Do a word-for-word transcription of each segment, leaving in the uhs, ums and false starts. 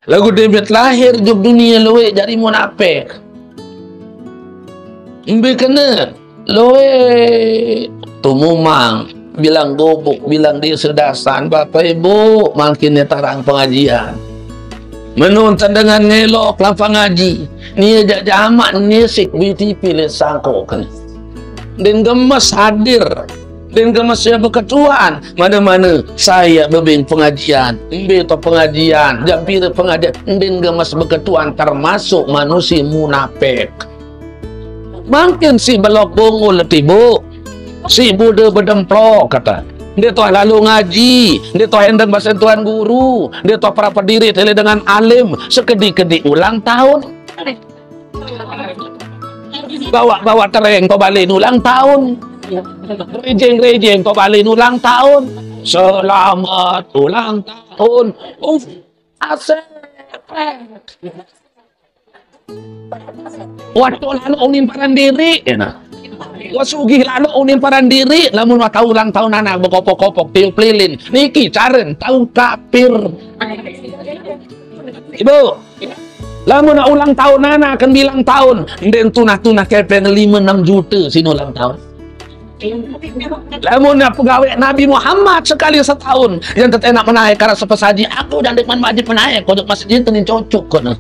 Laguq dait lahir ojok dunie lueq jari munapek. Mbe kene lueq tumumang, bilang gubuk, bilang dise dasan, Bapak Ibu, mangkin ne tarang pengajian. Menuntan dengan ngelok lampaq ngaji, nie jaq jamaq ngisik B T P leq sangkoq kene. Ndeqn gemes hadir, ndeqn gemes ie beketuan, mane-mane sai bebeng pengajian, mbe taoq pengajian, jam pire pengajian, ndeqn gemes beketuan, termasuk manusie munapek. Mangkin siq belok bungul tiboq, siq bude bedemplok, kata. Ndeq taoq lalo ngaji, ndeq taoq endeng basen tuan guru, ndeq taoq perapet diriq tele dengan alim, sekediq-kediq ulang taun. Bawaq-bawaq tereng taoq balen ulang taun. Rejeng-rejeng taoq balen ulang taun. Selamat ulang taun. Uf, asek. Wah toq laloq unin paran diriq, ye nah. Wah sugih laloq unin paran diriq, lamun wah tao ulang taun anak bekopok-kopok, tiup lilin. Niki caren tao kapir. Ibu, lamun ulang taun anak, ken bilang taun, ndeqn tunah-tunah kepeng lime enem jute sin ulang taun. Lamun pegaweq Nabi Muhammad sekali setaun, yaq tetenak menaeq araq sepesaji, aku jaq ndeqman wajib menaeq ojok masjid, tenin cocok kono.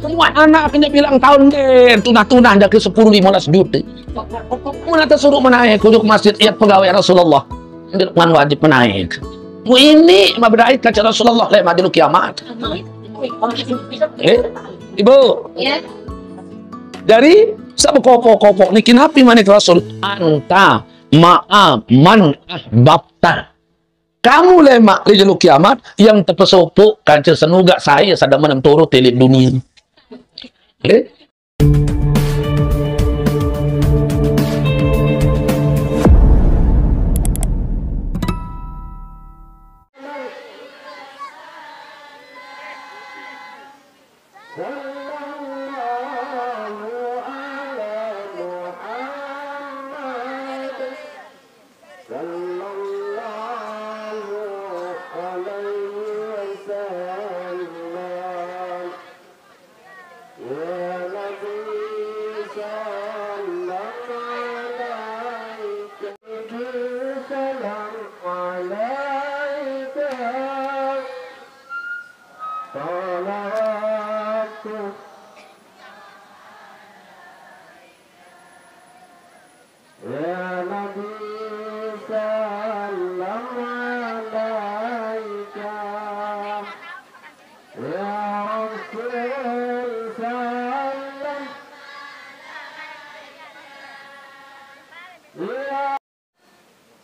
Semua anak kene bilang taun ndeqn tunah-tunah jaq ke sepuluh lime belas jute. Mun ate suruq menaeq ojok masjid, yaq pegaweq Rasulullah. Ndeqman wajib menaeq. Mu ini mabedait kance Rasulullah leq majelis kiamat. Eh, Ibu. Jari, saq bekopok-kopok niki napi manik Rasul? Anta ma'a man ahbabta. Kamu lemaq leq jelo kiamat, yaq tepesopoq kance senugaq sai saq demen turut leq dunie. Eh?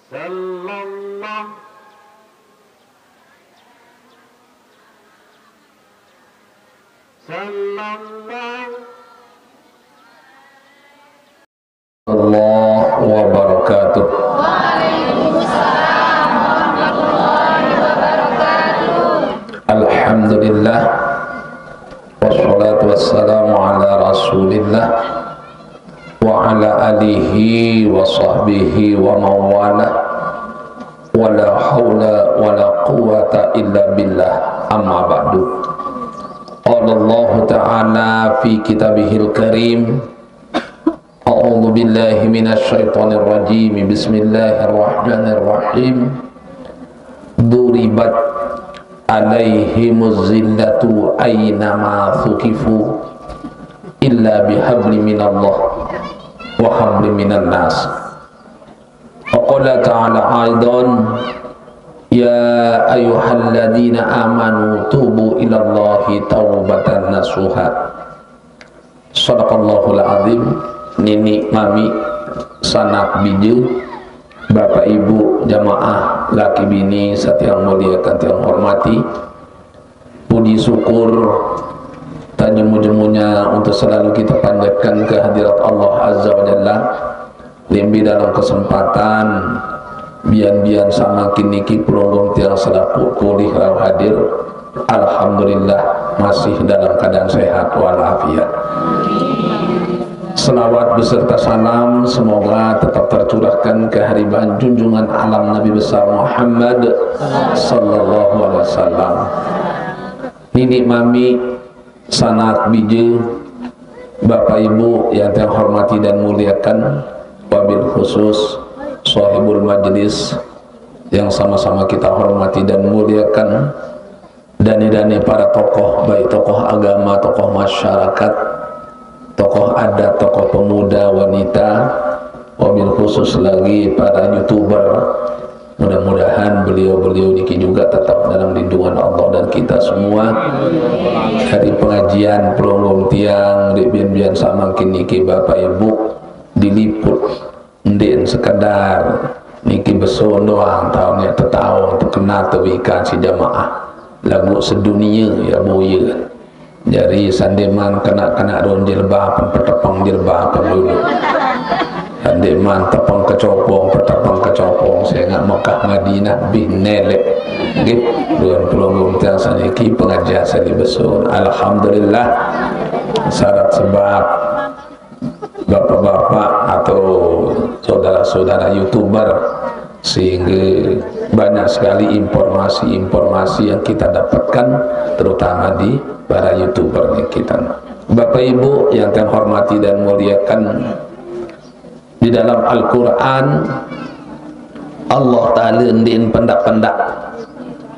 Sallallahu, sallallahu. Allah wabarakatuh. Alhamdulillah. Wassalatu wassalamu ala Rasulillah. Wa ala alihi wa sahbihi wa mawala. Wa la haula wa la quwwata illa billah. Amma ba'du. Qala Allahu ta'ala fi kitabihil karim. A'udzu billahi minasy syaithanir rajim. Bismillahirrahmanirrahim. Duribat alaihimuz zillatu aina ma thuqifu illa bihablin minallah wa hablin minan nas. Wa qala ta'ala aidan, ya ayyuhalladzina amanu tubu ilallahi taubatan nasuha. Sadaqallahul azim. Niniq mamiq, sanak bije, bapak ibu, jamaah, laki bini, saq tiang muliekan, tiang hormati. Puji syukur tajemu-jemunya untuk selalu kita panjatkan ke hadirat Allah Azza wa Jalla. Lembe dalam kesempatan bian-bian saq mangkin niki pelungguh tiang selapuq polih rauh hadir. Alhamdulillah, masih dalam keadaan sehat walafiat. Selawat beserta salam semoga tetap tercurahkan ke hariban junjungan alam Nabi besar Muhammad sallallahu alaihi wasallam. Nini mami, sanak bije, Bapak Ibu yang saya hormati dan muliakan, wabil khusus sahibul majlis yang sama-sama kita hormati dan muliakan, dane-dane para tokoh, baik tokoh agama, tokoh masyarakat, tokoh adat, tokoh pemuda, wanita, wabil khusus lagi para YouTuber. Mudah-mudahan beliau-beliau niki juga tetap dalam lindungan Allah dan kita semua. Hari pengajian pelungguh tiang, dik bian-bian samangkin niki Bapak Ibu diliput. Ndeqn sekedar niki besun doang, taun yaq tetaun, tekenal tewikan si jamaah. Laguq sedunie yaq boye. Jari sandeqman kenaq-kenaq don jilbab, petepeng jilbab dulu. Sandeqman tepeng kecopong, petepeng kecopong, sengaq Mekah Madinah bih neleq. Nggih, due pelungguh tiang saniki pengajian sane besun. Alhamdulillah. Syarat sebab bapak-bapak atau saudara-saudara YouTuber, sehingga banyak sekali informasi-informasi yang kita dapatkan, terutama di para YouTuber kita. Bapak Ibu yang kami hormati dan muliakan, di dalam Al-Quran, Allah Ta'ala ndeqn pendaq-pendaq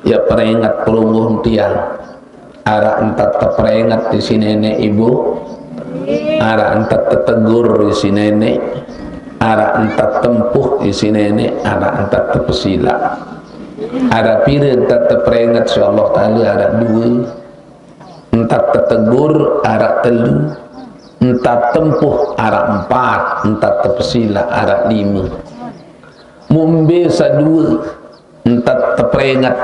yaq peringet pelungguh tiang. Araq ntan teperinget isiq Neneq Ibu, araq ntan tetegur isiq Neneq, araq ntan tempuh isiq Neneq, araq ntan tepesilaq. Araq pire ntan teperinget siq Allah Ta'ala? Araq due. Ntan tetegur araq telu, ntan tempuh araq empat, ntan tepesilaq araq lime. Mumbe saq due ntan teperinget,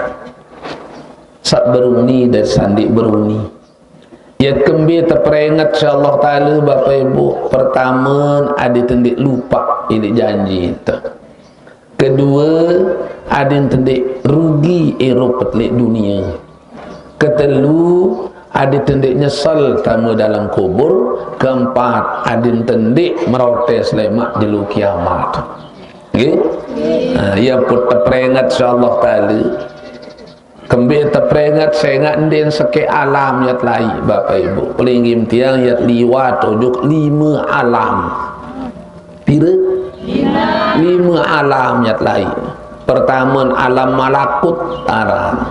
saq beruni dait saq ndeq beruni. Ye kembe teperinget siq Allah Ta'ala, Bapak Ibu? Pertame, adeqte ndeq lupaq leq janji te. Kedue, adeqte ndeq rugi irup leq dunie. Ketelu, adeqte ndeq nyesel tame dalem kubur. Keempat, adeqte ndeq merotes lemaq jelo kiamat. Nggih? Nah, ye pun teperinget siq Allah Ta'ala. Kembe teperinget? Sengaq ndeqn sekeq alam yaq telaiq, Bapak Ibu. Pelinggih tiang, yaq liwat ojok lime alam. Pire? Lime alam yaq telaiq. Pertame, alam malakut aran.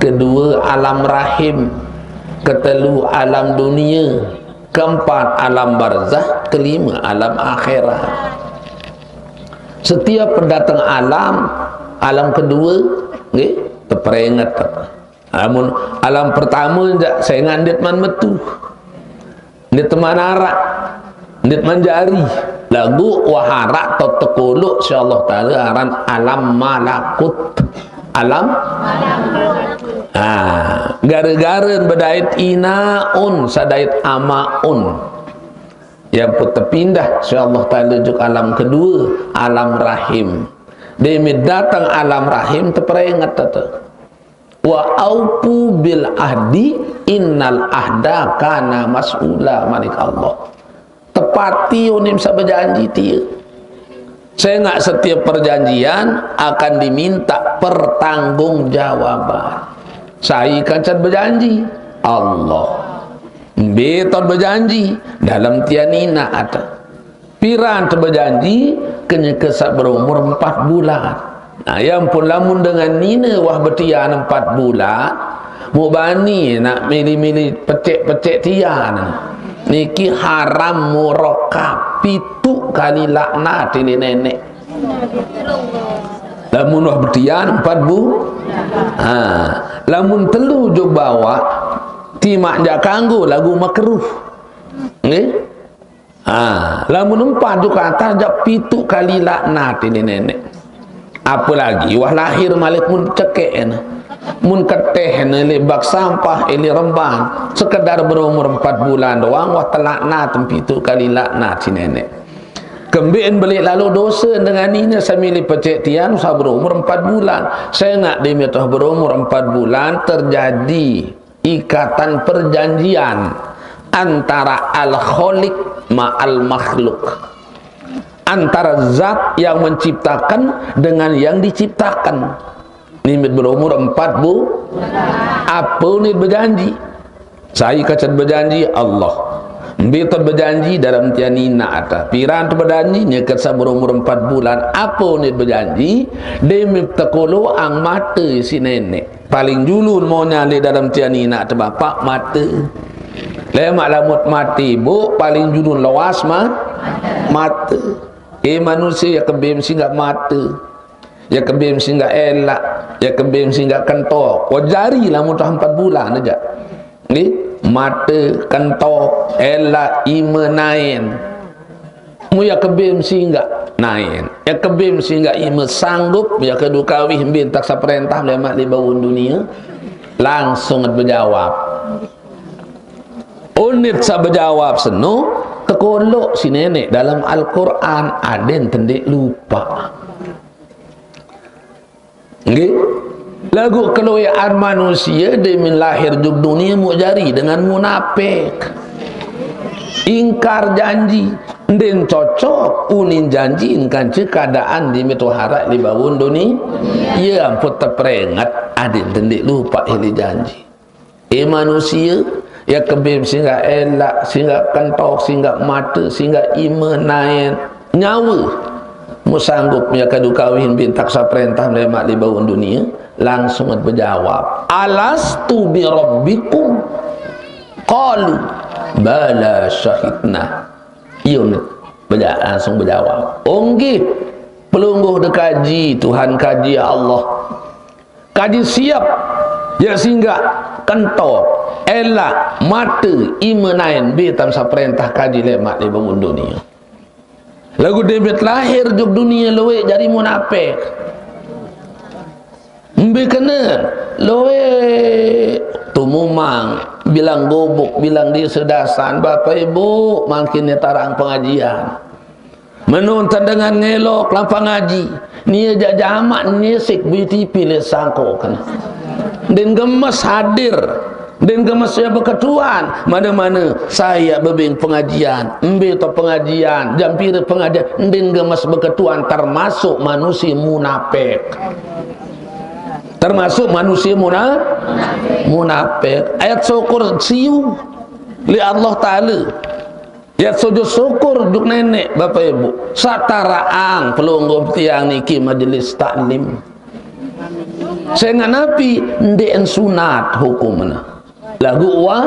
Kedue, alam rahim. Ketelu, alam dunie. Keempat, alam barzah. Kelime, alam akhirat. Setiap pendatang alam, alam kedue, nggih, teperinget. Amun alam pertame jaq sengaq ndeqman metu, ndeqman araq, ndeqman jari. Laguq wah araq taoq tekoloq siq Allah Ta'ala aran alam malakut. Alam? Ah, gare-gare bedait inaun, saq dait amaun. Ye pun tepindah siq Allah Ta'ala ojok alam kedue, alam rahim. Deme dateng alam rahim teperinget te. "Wa aufu bil ahdi, innal ahda kana mas'ula," manik Allah. Tepati unim saq bejanji tie. Sengaq setiap perjanjian akan diminta pertanggungjawaban. Sai kance bejanji? Allah. Mbe taoq bejanji? Dalem tian inaq ate. Piran te bejanji? Kenyeke saq berumur empat bulan. Nah, ye pun lamun dengan nine wah betian empat bulan, muq bani naq mili-mili peceq-peceq tian. Niki haram murakab, pituq kali laknat leq Neneq. Lamun wah betian empat bu-, ha, lamun telu jok bawaq, timaq jaq kanggo laguq makruh. Nggih? Ha, lamun empat jok atas jaq pituq kali laknat leq Neneq. Apalagi wah lahir malik mun cekeq ene. Mun keteh ene leq bak sampah, eh, leq rembang, sekedar berumur empat bulan doang wah telaknat pituq kali laknat siq Neneq. Kembeqn beleq lalo dose dengan nine saq mili peceq tian saq berumur empat bulan. Sengaq deme taoq berumur empat bulan terjadi ikatan perjanjian. Antara al-khaliq ma'al makhluk, antara zat yang menciptakan dengan yang diciptakan. Ni mit berumur empat bu, apa ni berjanji? Saya kata berjanji Allah. Mbe tu berjanji dalam tian ina ata. Piran tu berjanji ni kata berumur empat bulan. Apa ni berjanji? Demi tekolo ang mata si nenek. Paling julun maunya le dalam tian ina tu bapak mata. Lemak lamut mati bu paling julun lawas mah mata. Eh manusia ya kebim singgah mata. Ya kebim singgah elak. Ya kebim singgah kentok. Kau jari lamut empat bulan aja. Ni mata kentok elak imenain. Mu ya kebim singgah nain. Ya kebim singgah ime sanggup ya kedu kawih bin taksa perintah lemak di bawun dunia. Langsung berjawab. Unit sa berjawab seno, tekolok si nenek dalam Al-Quran aden tendik lupa. Nggih. Lagu keloyaan manusia demin lahir juk dunia mu jari dengan munafik. Ingkar janji, ndin cocok unin janji ingkan ce keadaan di metu harak di bawun dunia. Ya ampun terperingat adin tendik lupa hili janji. Eh manusia, ya kebim singgah elak, singgah kentok, singgah mata, singgah imenain nyawa. Mu sanggup ya kadu kawin bin taksa perintah lemak di bawun dunia, langsung berjawab, "Alastu bi rabbikum?" Qalu, "Bala syahidna." Iya, beja-, langsung berjawab, "Onggih, pelungguh dekaji, Tuhan kaji ya Allah." Kaji siap, ya singgah, kentok, elak, mata, imenain, bi tamsa perintah kaji lemak di bangun dunia. Lagu David lahir juk dunia luwek jari munafik. Mbe kena luwek tumumang, bilang gubuk, bilang di sedasan, Bapak Ibu, mangkin ni tarang pengajian. Menonton dengan ngelok lapang ngaji. Ni aja jamak ni sik B T P le sangko kena. Den gemes hadir. Den gemes ya beketuan. Mana-mana saya bebing pengajian. Mbe to pengajian. Jampir pengajian. Den gemes beketuan termasuk manusia munafik. Termasuk manusia muna-, munafik. Ayat syukur siu li Allah Ta'ala. Ya sujud syukur juk nenek, Bapak Ibu. Sataraang pelungguh tiang niki majelis taklim. Sehingga napi ndek sunat hukumna. Lagu wa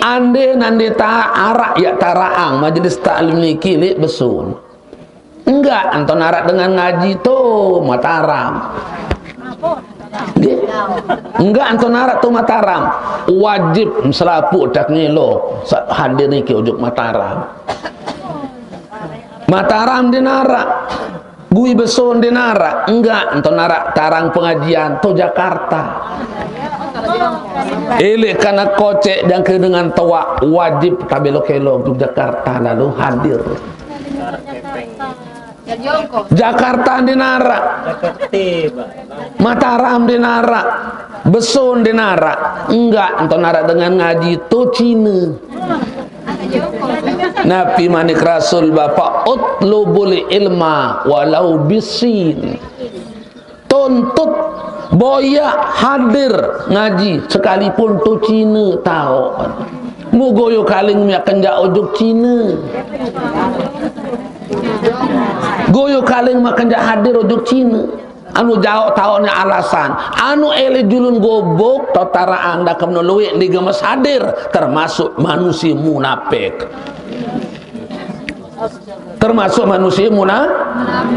ande nande ta arak ya taraang majelis taklim niki lek besun. Enggak, anton arak dengan ngaji tu Mataram. Nggih. Enggak anton arak tu Mataram. Wajib selapuq tak ngelo sa-, hadir niki ujuk Mataram. Mataram din arak. Gui Beson din arak. Enggak anton arak tarang pengajian tu Jakarta. Elek kana kocek jangka dengan tuak wajib tabelo kelo ujuk Jakarta lalu hadir. Jakarta din arak. Mataram din arak. Beson din arak. Enggak anton arak dengan ngaji tu Cina. Nabi manik Rasul Bapak, "Utlubul ilma walau bisin." Tuntut boyak hadir ngaji sekalipun tu Cina tau. Mu goyo kaling mia kenjak ujuk Cina. Goyo kaling mia kenjak hadir ujuk Cina. Anu jauh tau ni alasan. Anu ele julun gobok tau taraang dakam no luwek digemes hadir termasuk manusia munafik. Termasuk manusia muna-,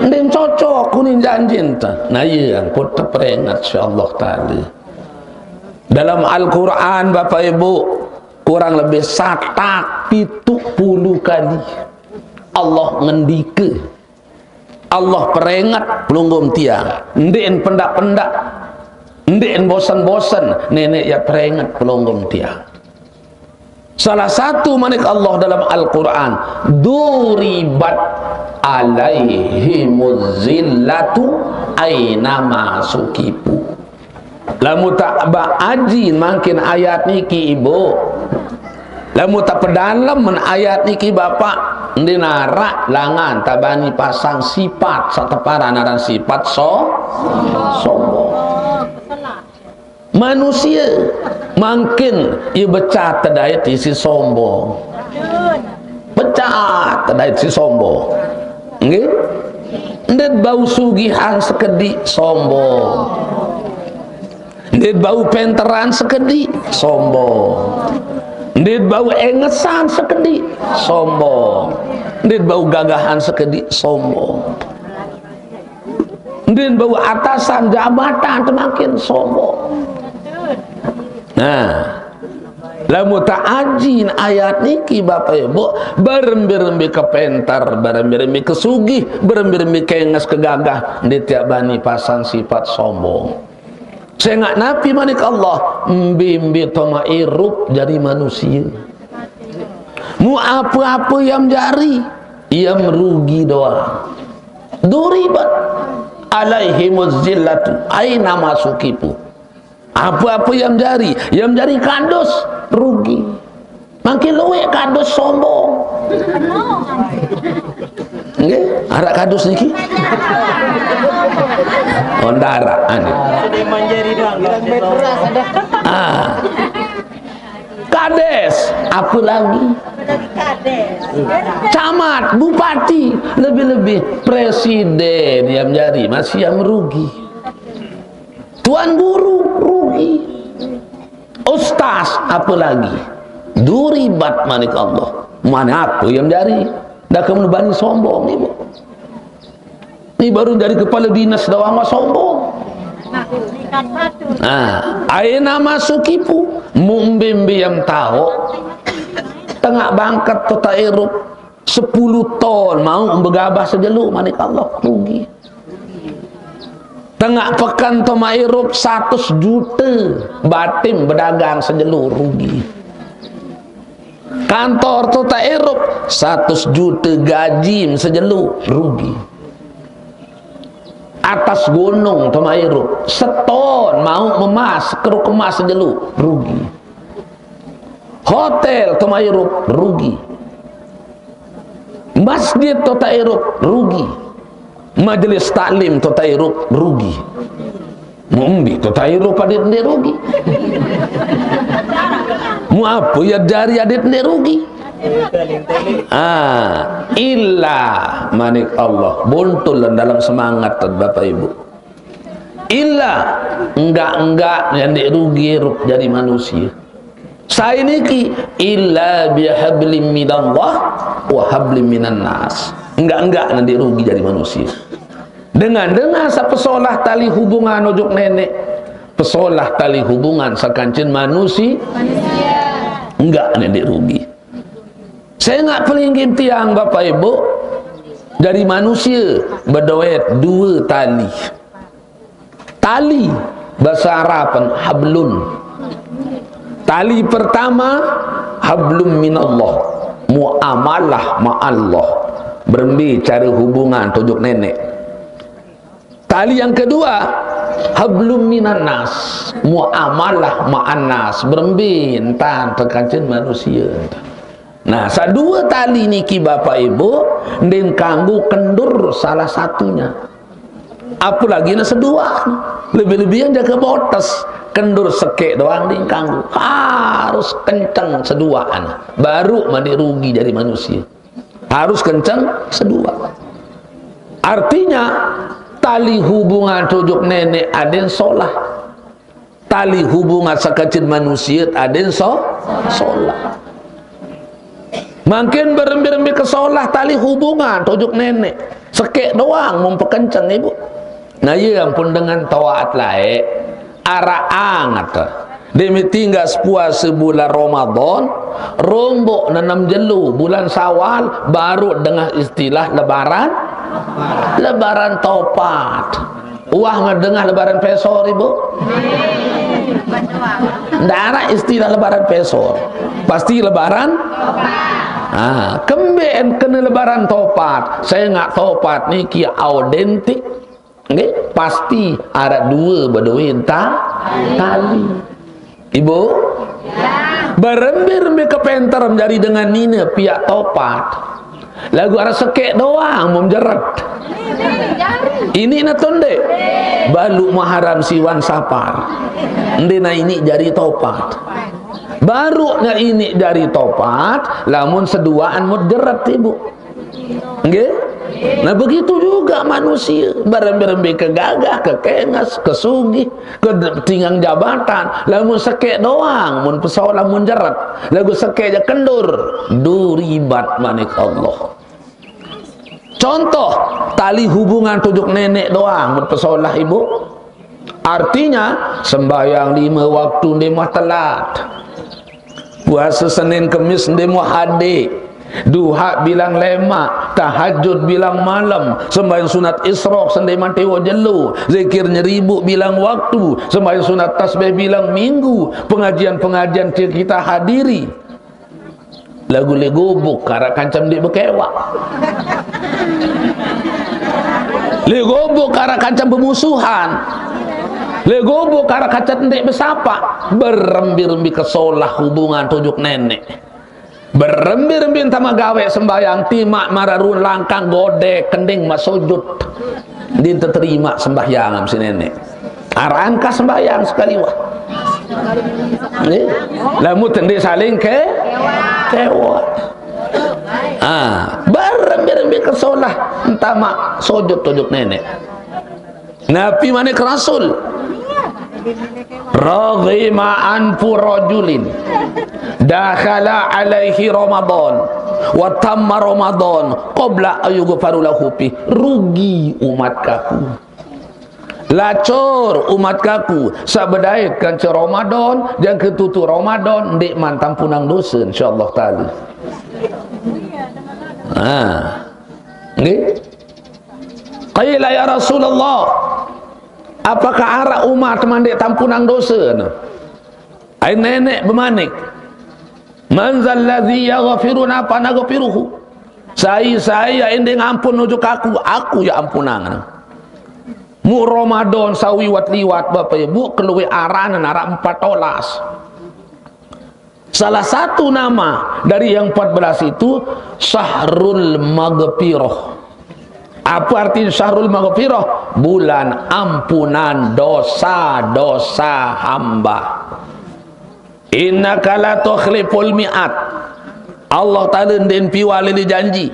ndin cocok kuning janjin ta. Nah, iya, angkut terperingat, insyaallah taala. Dalam Al-Quran, Bapak Ibu, kurang lebih satak pitu puluh kali Allah ngendika. Allah peringat pelungguh tiang. Ndin pendak-pendak. Ndin bosan-bosan. Nenek ya peringat pelungguh tiang. Salah satu manik Allah dalam Al-Quran, "Duribat alaihimuz zillatu ainama sukifu." Lamun tak ba aji mangkin ayat niki, Ibu. Lamun tapedalem men ayat niki, Bapak, ndeq naraq langan tabani pasang sipat saq teparan aran sipat so-, sombong. Manusie mangkin ie becat tedait isiq sombong. Becat tedait isiq sombong. Nggih? Ndeq bau sugihan sekediq, sombong. Ndeq bau penteran sekediq, sombong. Ndeq bau engesan sekediq, sombong. Ndeq bau gagahan sekediq, sombong. Ndeq bau atasan jabatan temakin sombong. Nah, lamun teajin ayat niki, Bapak Ibu, berembe-rembe kepenter, berembe-rembe kesugih, berembe-rembe kenges kegagah, ndeq tiaq bani pasang sipat sombong. Sengaq napi manik Allah, mbe-mbe toma irup jari manusie. Mu ape-ape yam jari, yam rugi doang. Duribat alaihimuz zillatu aina masukipu. Ape-ape yam jari, yam jari kadus, rugi. Mangkin lueq kadus sombong. Nggih, araq kadus niki? Oh, ndaraq, anu. Sudah manjari doang. Ah. Kades, apalagi? Camat, bupati, lebih-lebih presiden yam jari, masih yam rugi. Tuan guru, rugi. Ustaz, apalagi? Duribat manik Allah. Mana ape yam jari? Ndeq kemene bani sombong, Ibu. Ni baru jari kepala dinas doang mah sombong. Nah, aina masukipu, mu mbe-mbe yam taoq, tengaq bangket tota irup, sepulu ton mauq begabah sejelo, manik Allah, rugi. Tengaq peken toma irup satus jute, batim bedagang sejelo, rugi. Kantor tota irup satus jute gajim sejelo, rugi. Atas gunung toma irup, seton mauq memas, keruk emas sejelo, rugi. Hotel toma irup, rugi. Masjid tota irup, rugi. Majelis taklim tota irup, rugi. Mu mbe tota irup adeqt ndeq rugi? Mu ape yam jari adeqt ndeq rugi? Ah, illa manik Allah, buntul dalem semangat, Bapak Ibu. Illa, enggak-enggak ndeq rugi irup jari manusie. Sai niki? Illa bihablim minallah wa hablim minan nas. Enggak-enggak ndeq rugi jari manusie. Dengan-dengan saq pesolah tali hubungan ojok Neneq, pesolah tali hubungan sekancen manusie, enggak ndeq rugi. Sengaq pelinggih tiang, Bapak Ibu, jari manusie bedoe due tali. Tali, base Arapen, hablun. Tali pertama, hablum minallah, muamalah ma Allah. Berembe care hubungan ojok Neneq. Tali yang kedua, hablum minan nas, muamalah ma'an nas. Berembe entan tekancen manusie. Nah, saq due tali niki, Bapak Ibu, ndeqn kanggo kendur salah satunya. Apalagi ne seduaqn. Lebih-lebihan jage botes. Kendur sekeq doang ndeqn kanggo. Harus kenceng seduaqn. Baruq mani rugi jari manusie. Harus kenceng seduaq. Artinya, tali hubungan ojok Neneq adeqn solah. Tali hubungan sekancen manusie adeqn so-, solah. Mangkin berembe-rembe kesolah tali hubungan ojok Neneq. Sekeq doang mun pekenceng, Ibu. Nah, ie ampun dengan taat laeq, araq anget. Demi tinggal sepuase bulan Ramadan, rombok nenem jelo bulan Syawal, baru dengah istilah lebaran, lebaran topat. Wah, nggak dengah lebaran pesor, Ibu? Ndaraq istilah lebaran pesor. Pasti lebaran. Ah, kembeqn kene lebaran topat. Sengaq topat niki autentik. Nggih, pasti araq due bedoe ta-, tali. Ibu? Berembe-rembe kepenter jari dengan nine piak topat. Lagu arah sekek doang mun jeret. Ini ne tunde. Balu Muharram siwan Sapar. Ndena ini jari topat. Baru ne ini jari topat, lamun seduaan mut jeret, Ibu. Nggih? Nah, begitu juga manusia. Berembe-rembe kegagah, kekenges, kesugih, ketinggang jabatan. Lamun sekek doang, mun pesolah, mun jeret. Lagu sekek ja kendur. Duribat manik Allah. Contoh, tali hubungan tujuk nenek doang, mun pesolah, Ibu. Artinya, sembahyang lima waktu nde mah telat. Puasa Senin Kemis nde mah hade. Duha bilang lemak, tahajud bilang malam, sembahyang sunat Isra sende mantewo jelo, zikir nyeribu bilang waktu, sembahyang sunat tasbih bilang minggu, pengajian-pengajian kita hadiri. Lagu legobok karak kancam ndeq bekewak. Legobok karak kancam bemusuhan. Legobok karak kancam ndeq besapa. Berembi-rembi kesolah hubungan tujuk nenek. Berembi-rembi entah magawe sembahyang, timaq mararun langkang godek kending masujud. Din teterima sembahyang si nenek. Arangkah sembahyang sekali wah. Nggih. Lamun ndeq saling ke, kewak. Ah, berembi-rembi kesolah entah maq sujud tujuk nenek. Napi manik Rasul? Raghima anfu rajulin dakhala alaihi Ramadan wa tamma Ramadan qabla ayyughfaru lahu fi. Rugi umat kaku. Lacur umat kaku, saq bedait kance Ramadan, jangke tutuq Ramadan, ndeqman tampunang dose, insyaallah taala. Ah. Nggih. Qila, "Ya Rasulullah, apakah araq umat mandeq tampunang dose?" Ai neneq bemanik, "Man dzalladzi yaghfiruna fa naghfiruhu?" Sai-sai ende ngampun nuju kaku, aku ya ampunang. Mu Ramadan sawiwat liwat, Bapak Ibu, keluwe aran araq empat olas. Salah satu nama dari yang empat belas itu Syahrul Maghfirah. Apa arti Syahrul Maghfirah? Bulan ampunan dosa-dosa hamba. Innaka la tukhliful mi'ad. Allah Taala ndeqn piwale leq janji.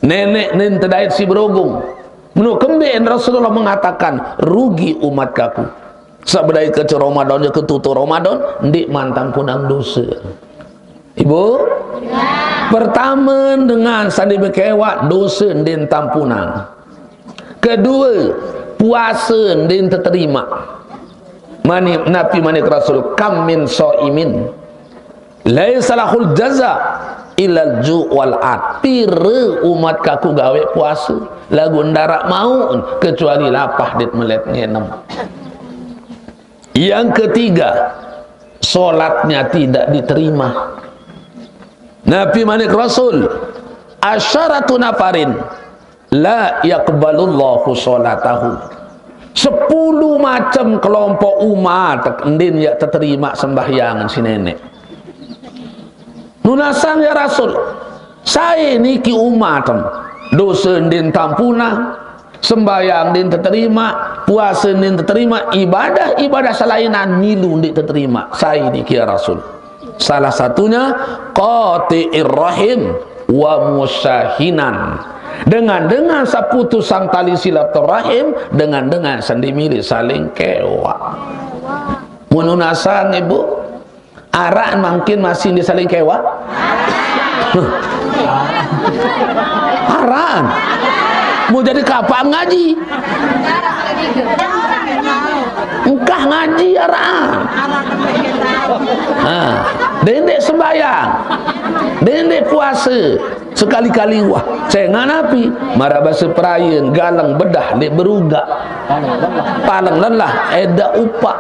Neneq nen tedait siq berugung. Meno kembeqn Rasulullah mengatakan, "Rugi umat kaku." Saq bedait kance Ramadan, jangke tutuq Ramadan, ndeqman tampunang dose. Ibu? Ya. Pertame, dengan saq ndeq bekewak, dose ndeqn tampunang. Kedue, puase ndeqn teterima. Mani, napi manik Rasul, "Kam min shaimin laisa lahul jaza illal ju' wal 'athas." Pire umat kaku gawe puase, laguq ndaraq mauq kecuali lapah dait melet ngenem. Yang ketiga, sholatnya tidak diterima. Napi manik Rasul, "Asyaratu nafarin la yaqbalullahu sholatahum." Sepulu macem kelompok umat ndeqn yaq teterima sembahyang si neneq. Nunasang, ya Rasul, sai niki umat em, dose ndeqn tampunang, sembahyang ndeqn teterima, puase ndeqn teterima, ibadah-ibadah selainan milu ndeq teterima. Sai niki, ya Rasul? Salah satunya qati'ir rahim wa musyahinan. Dengan-dengan saq putusang tali silaturahim, dengan-dengan saq ndeq mele saling kewak. Mun nunasang, Ibu, araq mangkin masih ndeq saling kewak? Araq. Mau jadi kapaq ngaji? Engkah ngaji araq. Ha, dendeq sembahyang, dendeq puase, sekali-kali wah. Sengaq napi? Maraq base Prayen, galeng bedah ndeq berugaq. Paleng lelah, edaq upaq.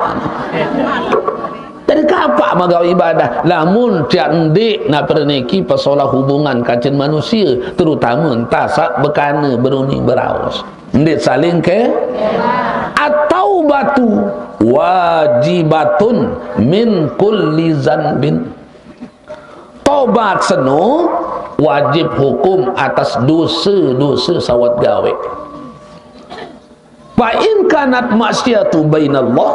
Jadi kapaq magawe ibadah? Lamun tiaq ndeq napi niki pesolah hubungan kancen manusie, terutame entah saq bekane beruni beraos. Ndeq saling ke? At-taubatu wajibatun min kulli zanbin. Tobat seno wajib hukum atas dose-dose sawat gawe. Fa in kanat maksiatu bainallah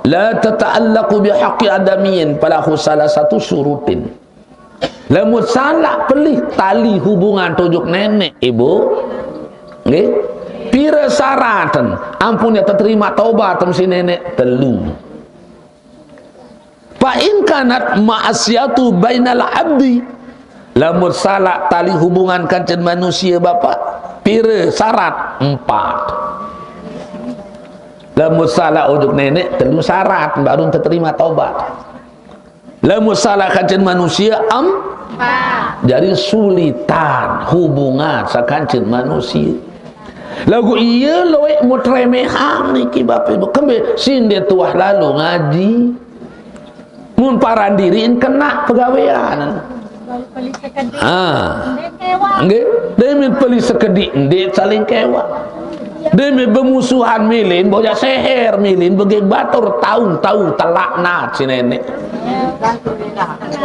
la tata'allaqu bihaqqi adamiyin falahu salasatu syurutin. Lamun salak pelih tali hubungan tojuk nenek, ibu, nggih, pira syaraten ampun ya terima tobat si nenek? Telu. Fa in kanat maksiatu bainal abdi, lamun salak tali hubungan kancen manusia, bapak, pira syarat? Empat. Lamun salak ojuk nenek, telu syarat baru terima tobat. Lamun salak kancen manusia, em, jadi sulitan hubungan sakancen manusia. Lagu iya loek mut remehan niki, bapak ibu, kembe sinde tuah lalu ngaji. Mun paran diriin kena pegawean. Ah. Nggih, demi peli sekedik ndik saling kewa. Demi bemusuhan milin boya seher, milin begeg batur, taun-taun telaknat si nenek.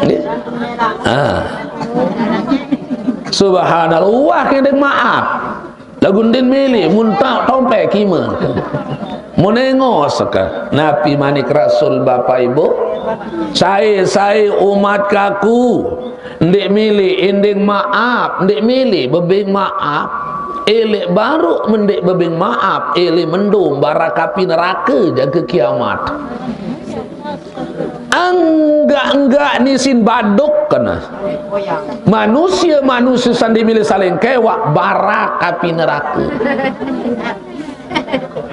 Nggih. Ah. Subhanallah, wah, kendek maaf. Lagu ndin milih, mun ta-, tompe kime. Mun engos ke. Napi manik Rasul, bapak ibu? Sai-sai umat kaku, ndik milih inding maaf, ndik milih bebing maaf. Elek baru mendik bebing maaf, elek mendung barakapi neraka jaga kiamat. Enggak-enggak nisin baduk kena. Manusia-manusia sandi milih saling kewak, barak api neraka.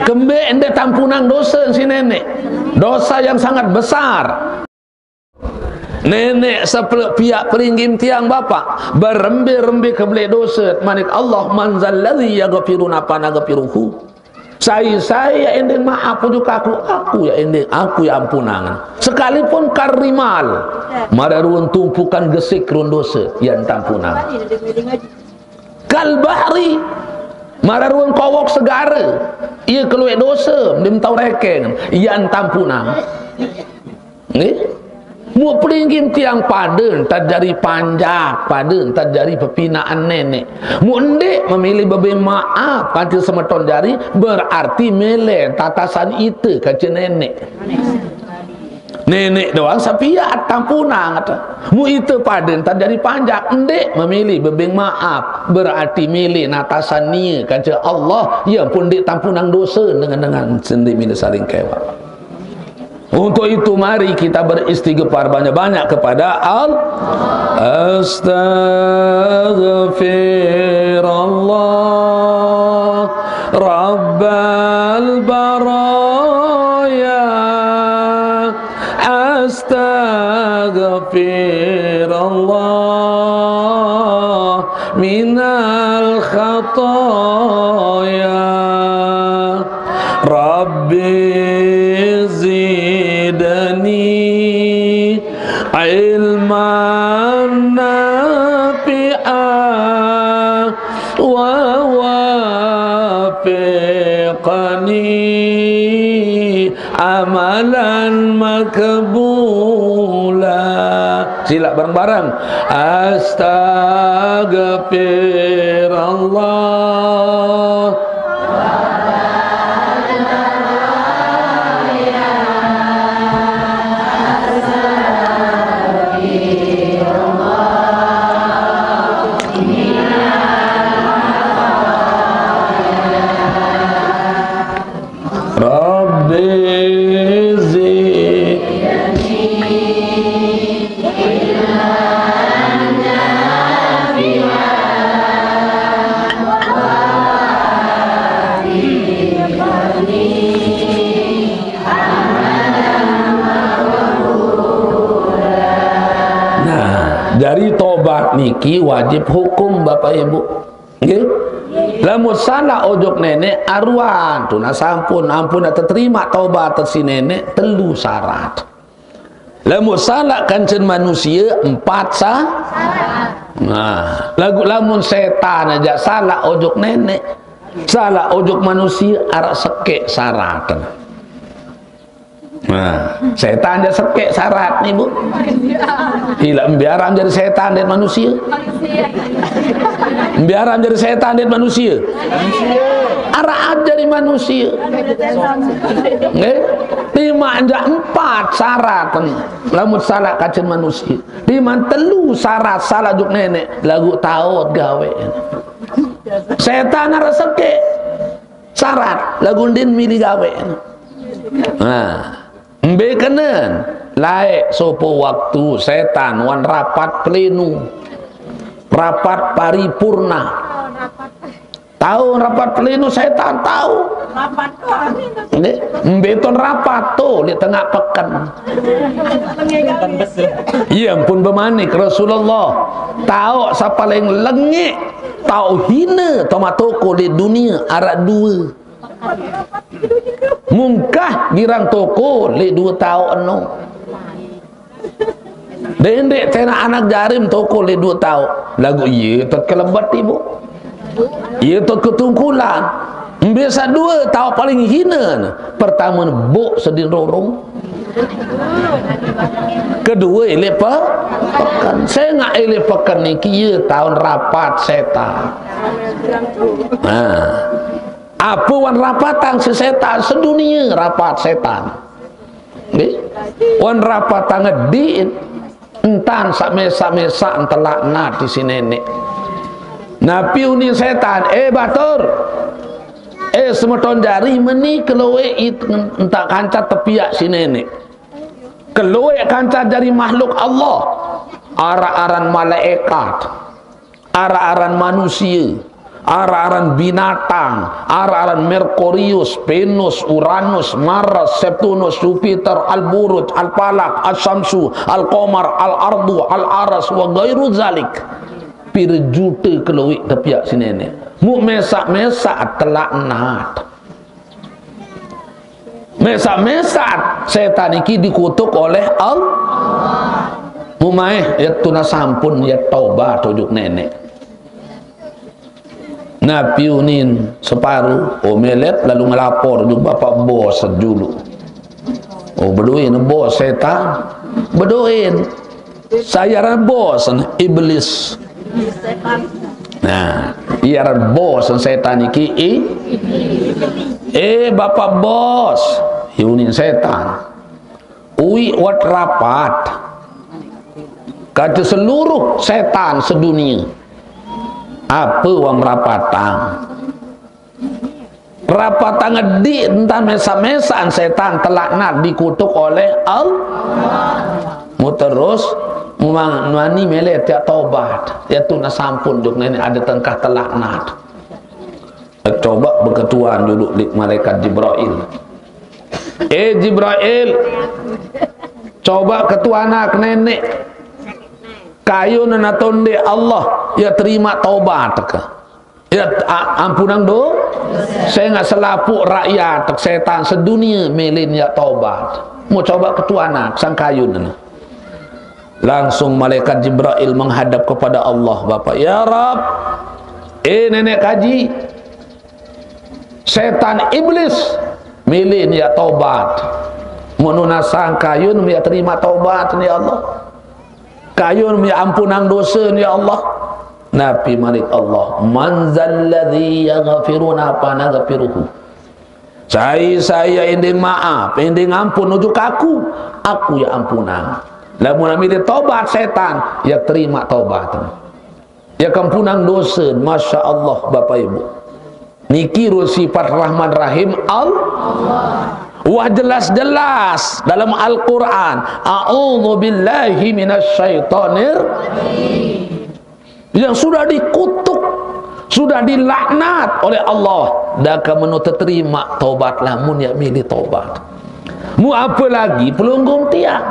Kembe ende tampunang dosa si nenek. Dosa yang sangat besar. Nenek sepeluk piak peringgim tiang bapak. Berembe-rembe kebelek dosa. Manik Allah, "Man zalladzi yaghfiru napa naghfiruhu." Sai-sai ya ending maaf ujuk aku, aku ya ending, aku ya ampunangan. Sekalipun karimal, mararuan tumpukan gesik rundose, ya tampunangan. Kal bahri, mararuan kowok segara, ia keluek dosa, ndim tau rekeng, ya tampunangan. Nggih. Mu peringgim tiang paden tad jari panjak, paden tad jari pepinaan nenek. Mu endik memilih bebe maaf kanti semeton jari, berarti mele tatasan ite kace nenek. Nenek doang sapiat tampunang kata. Mu ite paden tad jari panjak, endik memilih bebe maaf, berarti milih natasan nie kace Allah, ya pun endik tampunang dosa dengan, dengan sendi milih saling kewak. Untuk itu, mari kita beristighfar banyak-banyak kepada Allah. Astaghfirullah Rabbal baraya. Astaghfirullah minal khataya. Rabbi zidni ilman nafi'a wa wafiqni amalan makbula. Sila bareng-bareng. Astaghfirullah. Rabbi zidni ilman nafi'a wa. Nah, dari tobat niki wajib hukum, Bapak Ibu. Nggih. Lamun salah ojok nenek aruan, tuna sampun, ampun terima tobat si nenek, telu syarat. Lamun salah kancen manusia, empat sa-, nah, lagu lamun setan aja salah ojok nenek, salah ojok manusia, arak sekek syarat. Nah, setan jari sekek syarat ni, Bu. Ila mbiar am jari setan dek manusia. Mbiar am jari setan dek manusia. Araat jari manusia. Nggih. Timaq jaq empat syarat. Lamun salak kacen manusia. Timaq telu syarat salak juk neneq, laguq taoq gaweq. Setan araq sekek syarat, laguq ndeqn mili gaweq. Nah, mbe kenen? Laeq sopoq waktu setan wan rapat pleno. Rapat paripurna. Tao rapat pleno setan, tao. Nggih, mbe ton rapat to leq tengaq peken. Ie ampun bemanik Rasulullah, taoq saq paleng lengeq, taoq hine, tomaq toko leq dunie araq due. Mungkah girang toko leq due taoq eno. Dendeq tenaq anak jarim toko leq due taoq. Laguq ie tot kelebet, Ibu. Ie tot ketungkulan. Mbe saq due taoq paling hine ne? Pertame, boq sedin rorong. Kedue, leq pe-, peken. Sengaq leq peken niki ie taon rapat setan. Nah. Ape wan rapatang siq setan? Sedunie rapat setan. Nggih. Wan rapatang ediq, entan saq mesaq-mesaq telaknat isiq neneq. Napi unin setan? "Eh, batur. Eh, semeton jari, meni keloeq it-, entan kance tepiaq siq neneq. Keloeq kance jari makhluk Allah. Araq aran malaekat. Araq aran manusie, araq aran binatang, araq aran Merkurius, Venus, Uranus, Mars, Septunus, Jupiter, Al-Buruj, Al-Falak, Asy-Syamsu, Al-Qamar, Al-Ardu, Al-Aras, wa ghairu dzalik." Pire jute keloeq tepiaq siq neneq. Muq mesaq-mesaq telaknat. Mesaq-mesaq setan niki dikutuk oleh Allah. Mumaih, ie tunas ampun, ie tobat ojok neneq. Napi unin separuh, oh, melet lalu ngelapor ojok bapak bos julu. Oh, bedoin bos setan. Bedoin. Sai aran bos ne? Iblis. Nah, ie aran bos ne setan niki, i-, "Eh, bapak bos," unin setan. "Uiq wah rapat kance seluruh setan sedunie." "Ape wah merapatang?" "Rapatang ediq entan mesaq-mesaqan setan telaknat dikutuk oleh Allah." Muterus, mumang-, mani mele tiaq tobat. Ie tunas ampun juk neneq adeq tengkah telaknat. Coba beketuan julu leq malaikat Jibrail. "Eh, Jibrail, coba ketuanak neneq. Kayun ne atonde Allah, ie terimaq tobat ke?" Ie a-, ampunang do-, sengaq selapuq rakyat setan sedunie mele ne ie tobat. Muq coba ketuanak, sang kayun ne. Langsung malaikat Jibrail menghadap kepada Allah, Bapak, "Ya Rabb, eh, neneq kaji, setan iblis mele ne ie tobat. Muq nunasang kayun ne ie terimaq tobat ne, ya Allah. Kayun ne ie ampunang dose ne, ya Allah." Napi manik Allah, "Man dzalladzi yaghfiru lana fa naghfiruhu." Sai-sai ie endeng maap, endeng ampun ojok Aku, Aku ie ampunang. Lamun mele tobat setan, ie terimaq tobat. Ie kampunang dose, masya Allah, Bapak Ibu. Niki run sifat Rahman Rahim Allah. Wah jelas-jelas dalam Al-Quran, "A'udzu billahi minasy syaithanir." Yang sudah dikutuk, sudah dilaknat oleh Allah, daka meno teterimaq tobat lamun ie mele tobat. Muq apalagi pelungguh tiang.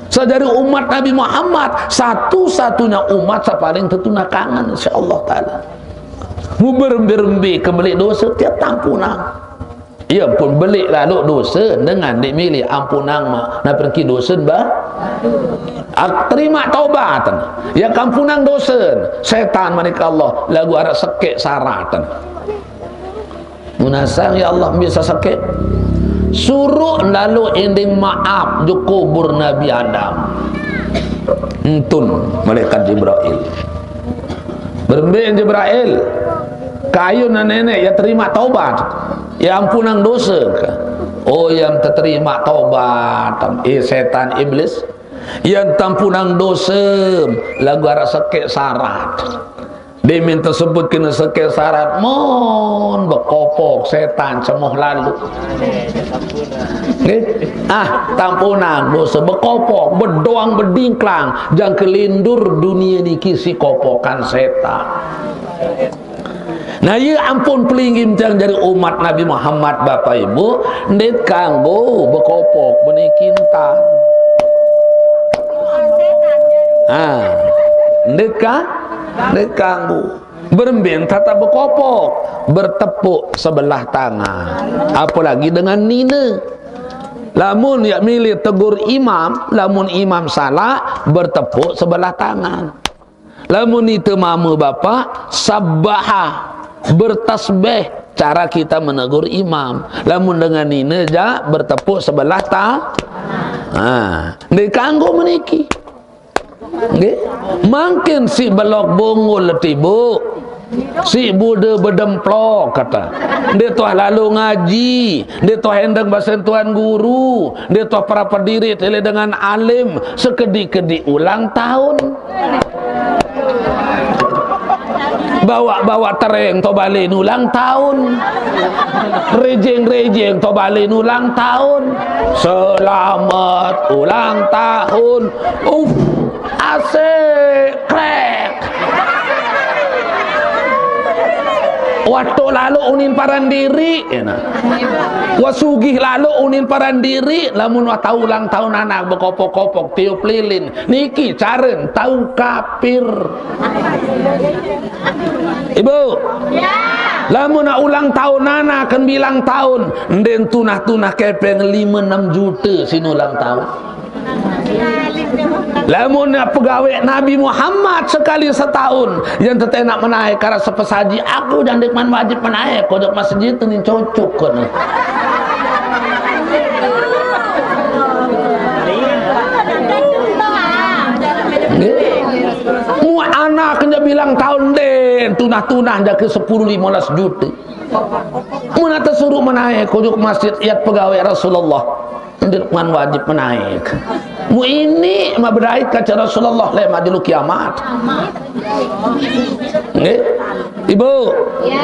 Saq jari umat Nabi Muhammad, satu-satunya umat saq paling tetunas kangen, insyaallah taala. Muq berembe-rembe kembeleq dose tiang tampunang. Ie pun beleq laloq dose dengan ndeq mele ampunang maq. Napi rengki dose, bah? Ak-, terimaq tobat. Ie kampunang dose. Setan manik Allah, laguq araq sekeq syarat. Nunasang, ya Allah, mbe saq sekeq? Suruh lalu ending maaf jok kubur Nabi Adam. Entun malaikat Jibril. Berembe Jibril? Kayun nenek ya terima taubat, ya ampunang dosa. Oh, yang terima taubat, eh, setan iblis, yang tampunang dosa, lagu arah sekek sarat. Demin tersebut kena sekek sarat, mon bekopok setan cemoh lalu. Nggih? Ah, tampunang dosa bekopok, bedoang bedingklang, jang kelindur dunia niki si kopokan setan. Nah, iya ampun pelinggih tiang jari umat Nabi Muhammad, Bapak Ibu, ndet kanggo bekopok beniki entan. Ah, ndet ka? Ndet kanggo. Berembe tata bekopok, bertepuk sebelah tangan. Apalagi dengan nine. Lamun ya milih tegur imam, lamun imam salah, bertepuk sebelah tangan. Lamun ite mama bapak, sabbaha, bertasbih, cara kita menegur imam. Lamun dengan nine ja, bertepuk sebelah ta-, ha, nggih kanggo meniki. Nggih. Mangkin si belog bungul tiba. Si bude bedemplok kata. Nde tuah lalu ngaji, nde tuah endeng basen tuan guru, nde tuah para pediri tele dengan alim, sekedi-kedi ulang tahun. Bawa-bawa tereng to balen ulang tahun. Rejeng-rejeng to balen ulang tahun. Selamat ulang tahun. Uf, asik, krek. Wato lalu unin paran diri, ya nah. Wasugih lalu unin paran diri, lamun wah tau ulang tahun anak bekopok-kopok tiup lilin. Niki caren tau kapir. Ibu, lamun nak ulang tahun anak kan bilang tahun, nden tunah-tunah kepeng lima enam juta sin ulang tahun. Lamun nak pegawai Nabi Muhammad sekali setahun, yang tetenak menaik karena sepesaji, aku jangan dikman wajib menaik, kodok masjid tu ni cocok kau ni. Nggih. Mu anak kena bilang tahun den, tunah-tunah jaka sepuluh lima belas juta. Mun ate suruh menaik, kujuk masjid iat pegawai Rasulullah. Ndeq man wajib menaik. Mu ini ma bedait kaca Rasulullah leq ma jelo kiamat. Nggih? Ibu? Ya.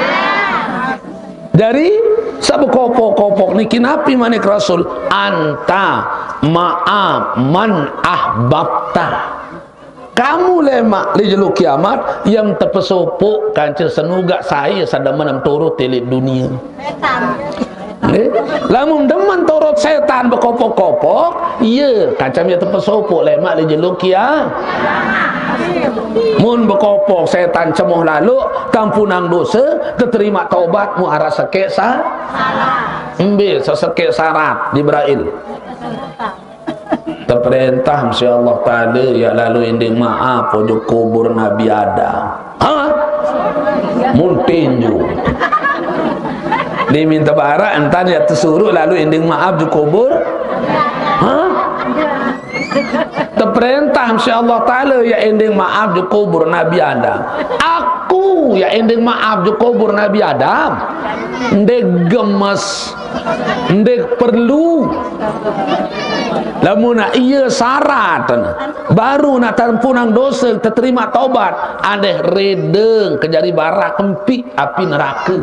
Dari saq bekopok-kopok niki napi manik Rasul? Anta ma'a man ahbabta. Kamu lemaq leq jelo kiamat, yang tepesopoq kance senugaq sai saq demen turut leq dunie. Setan. Nggih? Lamun demen turut setan bekopok-kopok, ie kancam ie tepesopoq lemaq leq jelo kia-, mun bekopok setan cemoh laloq, tampunang dose, teterimaq tobat, mu araq sekeq sa-, embe sesekeq syarat, Jibrail. Teperentah mesti Allah Taala, ya lalu endeng maaf ojok kubur Nabi Adam. Ha? Mun tinju. Diminta barak, entan ya tesuruh lalu endeng maaf ojok kubur. Ha? Teperentah mesti Allah Taala, ya endeng maaf ojok kubur Nabi Adam. Aku ya endeng maaf ojok kubur Nabi Adam. Ndeq gemes. Ndeq perlu. Lamun ie syarat, baru nak tampunang dose, teterimaq tobat, adeh redeng ke jari bara kempiq api nerake.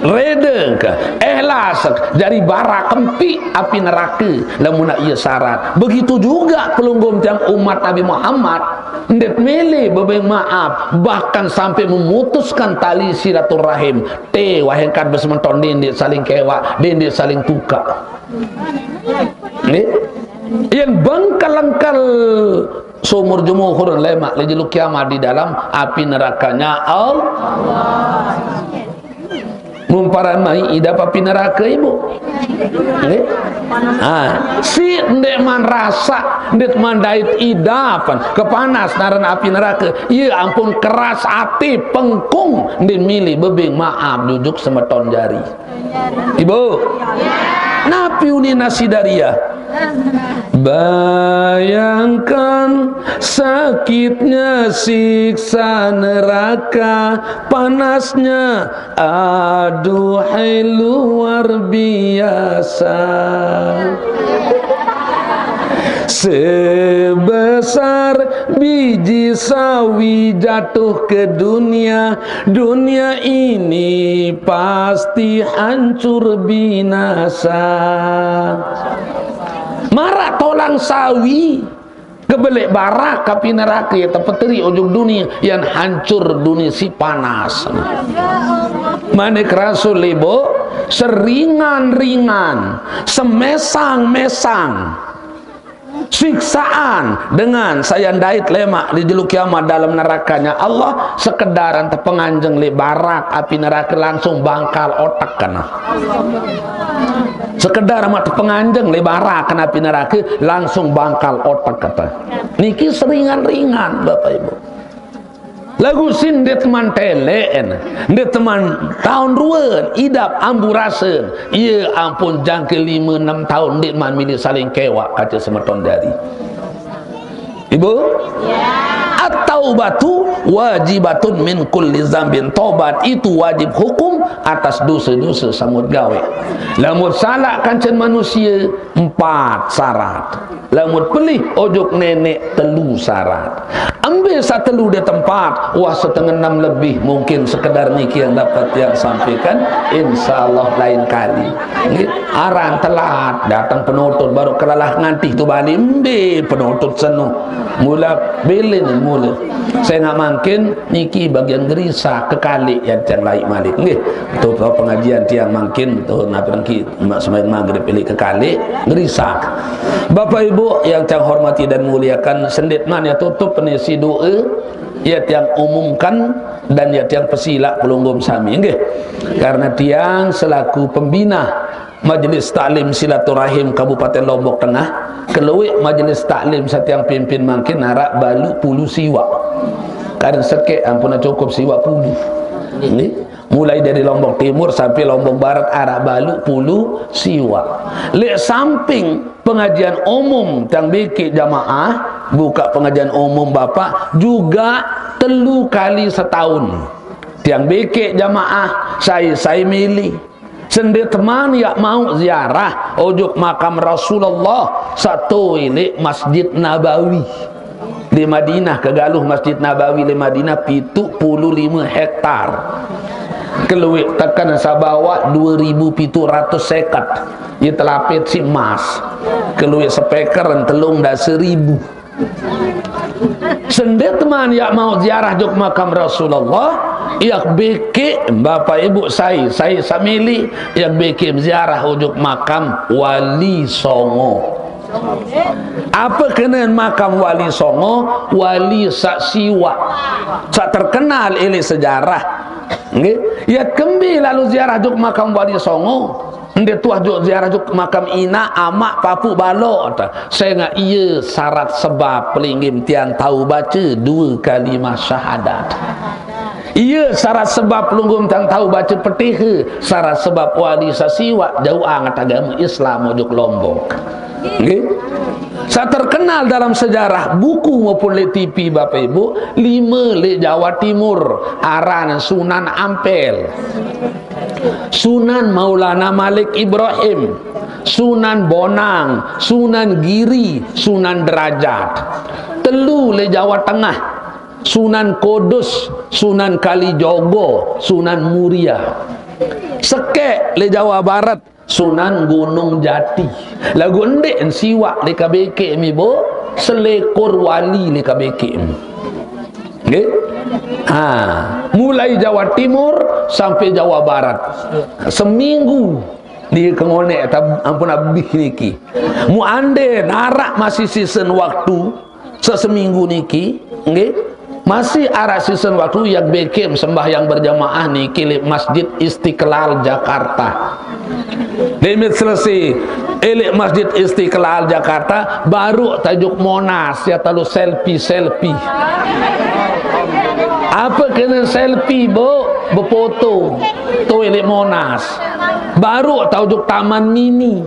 Redeng ke, ikhlas, jari bara kempiq api nerake. Lamun ie syarat. Begitu juga pelungguh tiang umat Nabi Muhammad. Ndeq mele bebeng maaf, bahkan sampai memutuskan tali silaturahim. Te wahengkat besemeton, ndeq saling kewaq, ndeq saling tukaq. Nggih? Yen bengkel-engkel sumur jumuhur lemaq leq jelo kiamat di dalam api nerakanya Allah. Mumparan mai idap api nerake, Ibu. Nggih? Ha, si ndeqman rasa, ndeqman dait idapan, kepanas naran api nerake, ie ampun keras ati, pengkung, ndeq mili bebeng maap jujuk semeton jari. Ibu, napi unin Nasidaria? Bayangkan sakitnya siksa neraka, panasnya, aduhai, luar biasa. Sebesar biji sawi jatuh ke dunia, dunia ini pasti hancur binasa. Maraq tolang sawi, kebeleq barak api nerake, tepeteriq ojok dunie, yan hancur dunie siq panas. Manik Rasul, Ibu, seringan-ringan, semesang-mesang siksaan dengan saq yaq ndait lemaq di jelo kiamat dalem nerakanya Allah, sekedaran tepenganjeng leq barak api nerake, langsung bangkal otek kene. Sekedar amaq tepenganjeng leq barak kene api nerake, langsung bangkal otek kete. Niki seringan-ringan, Bapak Ibu. Laguq si ndeqman teleqen, ndeqman taun ruen, idap amburasen, ie ampun jangke lime enem taun ndeqman mili saling kewaq kance semeton jari. Ibu? At-taubatu wajibatun min kulli zambin. Tobat itu wajib hukum atas dose-dose samut gawe. Lamun salaq kancen manusie, empat syarat. Lamun pelih ojok neneq, telu syarat. Embe saq telu de tempat, wah, setengah enam lebih, mungkin sekedar niki yang dapat yang sampaikan. Insya Allah lain kali. Nggih, aran telat dateng penutut, baru kelalah ngantih tu balik, embe penutut seno. Mula bilin mula. Sengaq mangkin niki bagian gerisak kekaliq yang tiang laik malik. Nggih, tu pengajian tiang mangkin tu napi rengki maq sembahyang magrib ilik kekaliq, gerisak. Bapak Ibu yang tiang hormati dan muliakan, sendeqman yaq tutup penisi doe, yaq tiang umumkan dan yaq tiang pesilaq pelungguh sami, nggih. Karena tiang selaku pembina Majelis Taklim Silaturahim Kabupaten Lombok Tengah, kelueq majelis taklim saq tiang pimpin mangkin araq baluq pulu siwaq. Kadang sekeq ampun cukup siwaq pulu. Nggih. Mulai dari Lombok Timur sampai Lombok Barat araq baluq pulu siwaq. Leq samping pengajian umum tiang bikin jamaah, buka pengajian umum Bapak, juga telu kali setahun. Tiang bikin jamaah, sai-sai mili. Sendeqman yaq mauq ziarah ojok makam Rasulullah saq toe leq Masjid Nabawi. Leq Madinah, kegaluh Masjid Nabawi leq Madinah pituq pulu lime hektar. Kelueq teken saq bawaq due ribu pituq ratus seket. Ie telapit siq emas. Kelueq speaker telung dase ribu. Sendeqman yaq mauq ziarah ojok makam Rasulullah, yaq bikin, Bapak Ibu, sai, sai saq mili, yaq bikin ziarah ojok makam Wali Songo. Ape kenen makam Wali Songo? Wali saq siwaq, saq terkenal ilik sejarah. Nggih, yaq kembe lalo ziarah ojok makam Wali Songo? Ndeq tuah ojok ziarah ojok makam inaq, amaq, papuq, baloq, sengaq ie syarat sebab pelinggih tiang tao bace due kalimah syahadat. Ie syarat sebab pelungguh tiang tao bace Petihe, syarat sebab wali saq siwaq jauq anget agame Islam ojok Lombok. Nggih. Saq terkenal dalam sejarah buku maupun leq T V, Bapak Ibu, lime leq Jawa Timur, aran Sunan Ampel. Sunan Maulana Malik Ibrahim, Sunan Bonang, Sunan Giri, Sunan Derajat. Telu leq Jawa Tengah, Sunan Kudus, Sunan Kalijogo, Sunan Muria. Sekeq leq Jawa Barat, Sunan Gunung Jati. Laguq ndeq siwaq leq K B K M, Ibu, selekur wali leq K B K M. Nggih? Ha, mulai Jawa Timur sampai Jawa Barat. Seminggu niki ke ngoneq, ampun abih niki. Muq ande naraq masih sisen waktu seseminggu niki, nggih. Masih araq sisen waktu yaq bekeq sembahyang berjamaah niki leq Masjid Istiqlal Jakarta. Demit selesai, eh, leq Masjid Istiqlal Jakarta, baruq tajuk Monas, ya talu selfie-selfie. Ape kene selfie, Bu? Befoto. Tuh leq Monas. Baruq tajuk Taman Mini.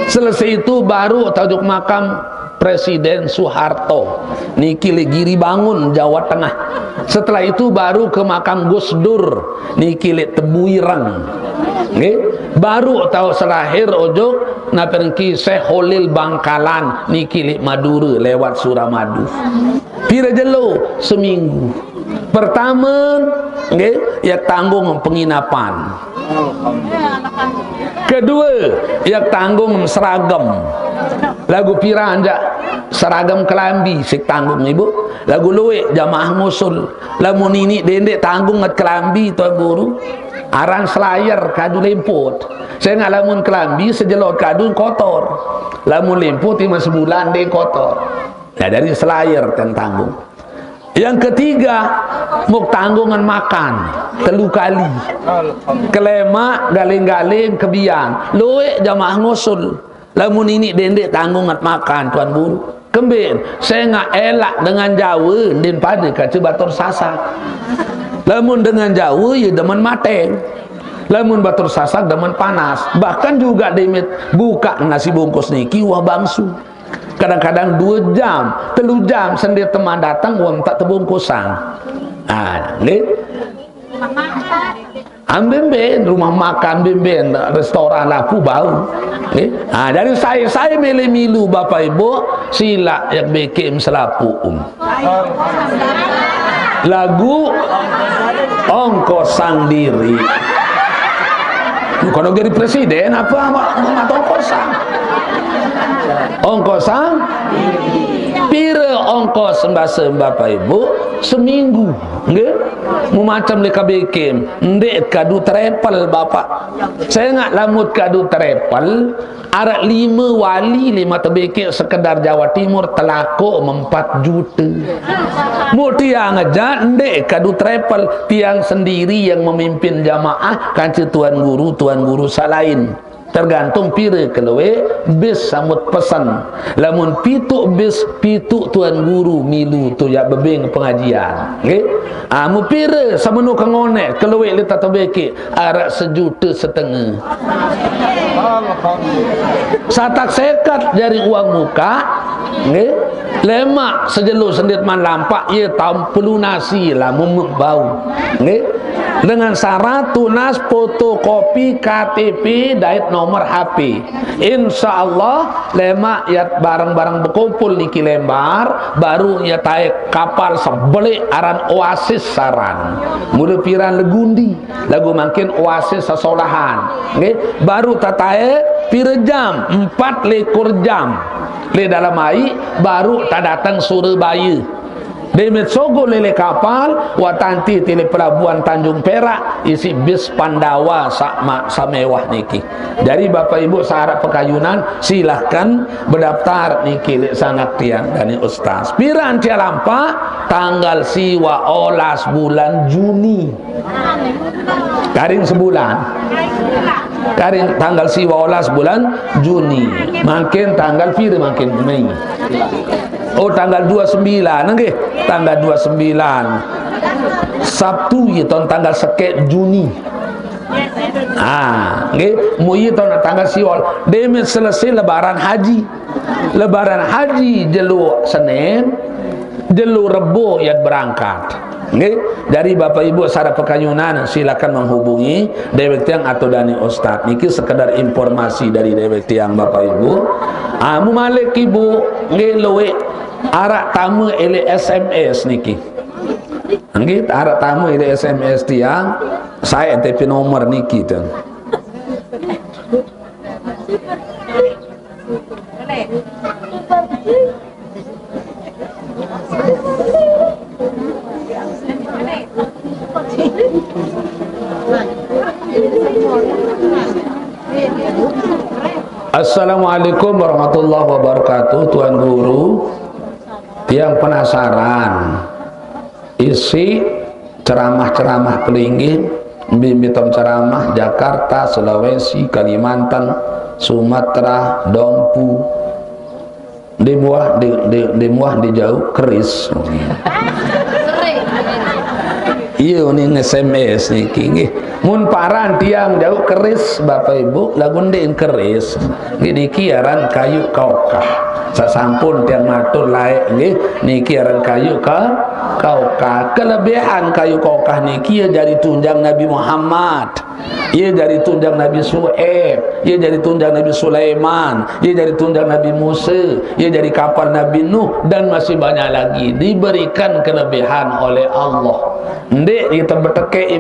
Selesai itu baruq tajuk makam Presiden Soeharto. Niki leq Giribangun, Jawa Tengah. Setelah itu baru ke makam Gus Dur. Niki leq Tebuireng. Nggih. Baru tau selahir ojok napi niki Syekh Kholil Bangkalan. Niki leq Madura lewat Suramadu. Pire jelo? Seminggu. Pertame, nggih, ya tanggung penginapan. Kedue, ya tanggung seragam. Lagu piran jaq seragam kelambi siq tanggung, Ibu. Lagu lueq jamaah ngusul. Lamun niniq dendeq tanggung nget kelambi, Tuan Guru, aran selayer kadu lemput. Sengaq lamun kelambi sejelot kadu kotor. Lamun lemput timaq sebulan ndeq kotor. Nah, dari selayer ten tanggung. Yang ketiga, muk tanggungan makan telu kali. Kelemaq, galing-galing, kebian. Lueq jamaah ngusul. Lamun niniq dendeq tanggung nget makan, Tuan Guru. Kemben, sengaq elaq dengan Jawe ndin pade kance batur Sasak. Lamun dengan Jawe, ye demen mateng. Lamun batur Sasak demen panas. Bahkan juga demit bukaq nasi bungkus niki wah bangsu. Kadang-kadang due jam, telu jam sendiri teman dateng, wong tak tebungkusang. Ah, nggih. Amben-ben rumah makan, amben-ben restoran laku bau. Nggih. Ah, jadi saya, saya milih milu Bapak Ibu, silaq yaq bekeq selapuq. Lagu ongkosang diriq. Bukan jadi presiden apa, mak, mak ongkosang. Ongkosang. Pire ongkos mbase Bapak Ibu? Seminggu. Nggih. Mu macem leq bekeq. Ndeq kadu travel, Bapak. Sengaq lamun kadu travel, araq lime wali leman tebekeq sekedar Jawa Timur telakoq empat jute. Muk tiang aja ndeq kadu travel, tiang sendiri yang memimpin jamaah kance tuan guru, tuan guru saq lain. Tergantung pire kelueq bis samut pesen. Lamun pituq bis, pituq tuan guru milu tu yaq bebeng pengajian. Nggih. Ah, mu pire semenu kengoneq kelueq leq tebekeq? Araq sejute setenge. Alhamdulillah. Satak seket jari uang mukaq, nggih. Lemaq sejelo sendit man lampaq, ye tau pelunasi lamun bau. Nggih. Dengan syarat tunas fotokopi K T P dait nomor H P. Insya Allah, lemaq yat bareng-bareng bekumpul niki lembar, baru ye taek kapal sebeleq aran Oasis saran. Mule piran legundi. Lagu mangkin Oasis sesolahan. Nggih, baru tatae pire jam? Empat likur jam. Leq dalem aiq, baru tadateng Surabaya. Demit sogo lele kapal, wah tanti ti leq pelabuhan Tanjung Perak, isiq bis Pandawa saq ma-, saq mewah niki. Jari Bapak Ibu saq araq Pekayunan, silahkan bedaftar niki leq sanak tiang dane Ustaz. Piran tiang lampaq? Tanggal siwaq olas bulan Juni. Karing sebulan. Karing tanggal siwaq olas bulan Juni. Mangkin tanggal pire mangkin Mei? Oh, tanggal dua sembilan, nggih. Tanggal dua sembilan. Sabtu ye taun tanggal sekeq Juni. Ah, nggih, mu ye taun tanggal siwaq. Demit selesai lebaran haji. Lebaran haji jelo Senin, jelo Rebo yat berangkat. Nggih, dari Bapak Ibu saq araq Pekayunan, silakan menghubungi dewek tiang atau dane Ustaz. Niki sekedar informasi dari dewek tiang, Bapak Ibu. Ah, mu malik Ibu, nggih, lueq araq tame eleq S M S niki. Nggih, araq tame eleq S M S tiang, sae N T P nomor niki ten. Assalamualaikum warahmatullahi wabarakatuh, Tuan Guru. Tiang penasaran. Isi ceramah-ceramah pelinggih, bimbing ceramah Jakarta, Sulawesi, Kalimantan, Sumatera, Dompu. Di muah di, di, di muah di jauh keris. Iya, ni nge-S M S niki nggih. Mun paran tiang jauh keris, Bapak Ibu, lagu ndik keris. Nggih, niki aran kayu kaukah. Sasampun tiang matur laek nggih, niki aran kayu ka kaukah. Kelebihan kayu kaukah niki ya jari tunjang Nabi Muhammad. Ia jari tunjang Nabi Su'aib, ia jari tunjang Nabi Sulaiman, ia jari tunjang Nabi Musa, ia jari kapal Nabi Nuh, dan masih banyak lagi diberikan kelebihan oleh Allah. Ndik kita bertekek